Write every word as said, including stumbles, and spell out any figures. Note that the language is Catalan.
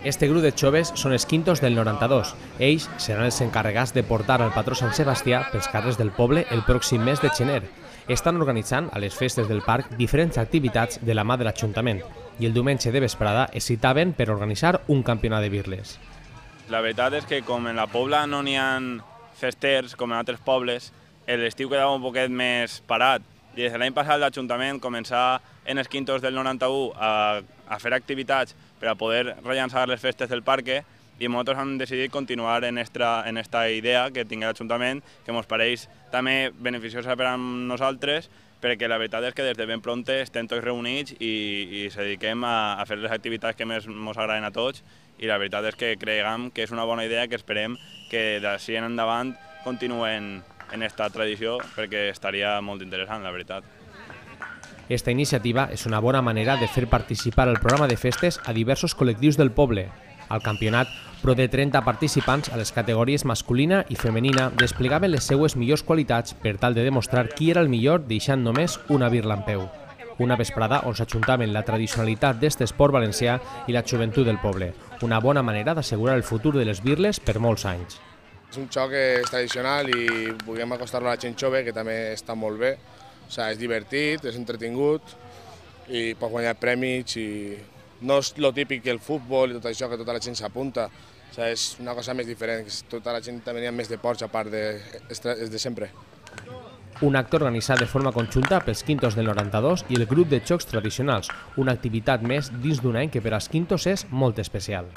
Este grup de joves són els quintos del noranta-dos. Ells seran els encarregats de portar al patró Sant Sebastià pels carrers del poble el pròxim mes de gener. Estan organitzant a les festes del parc diferents activitats de la mà de l'Ajuntament i el diumenge de vesprada es citaven per organitzar un campionat de birles. La veritat és que com en la Pobla no n'hi ha festers com en altres pobles, l'estiu quedava un poquet més parat i des de l'any passat l'Ajuntament començà en els quintos del noranta-u a, a fer activitats per a poder rellançar les festes del parc i nosaltres hem decidit continuar en esta, en esta idea que tingui l'Ajuntament, que ens pareix també beneficiosa per a nosaltres, perquè la veritat és que des de ben pronte estem tots reunits i, i ens dediquem a, a fer les activitats que més ens agraden a tots i la veritat és que creiem que és una bona idea que esperem que d'ací en endavant continuem en esta tradició perquè estaria molt interessant, la veritat. Esta iniciativa és una bona manera de fer participar al programa de festes a diversos col·lectius del poble. Al campionat, prop de trenta participants a les categories masculina i femenina desplegaven les seues millors qualitats per tal de demostrar qui era el millor deixant només una birla en peu. Una vesprada on s'ajuntaven la tradicionalitat d'aquest esport valencià i la joventut del poble. Una bona manera d'assegurar el futur de les birles per molts anys. És un joc que és tradicional i volem acostar-lo a la gent jove, que també està molt bé. O sigui, és divertit, és entretingut i pot guanyar premis i no és el típic que el futbol i tot això, que tota la gent s'apunta. O sigui, és una cosa més diferent, que tota la gent també hi ha més deports a part de, de sempre. Un acte organitzat de forma conjunta pels quintos del noranta-dos i el grup de jocs tradicionals, una activitat més dins d'un any que per als quintos és molt especial.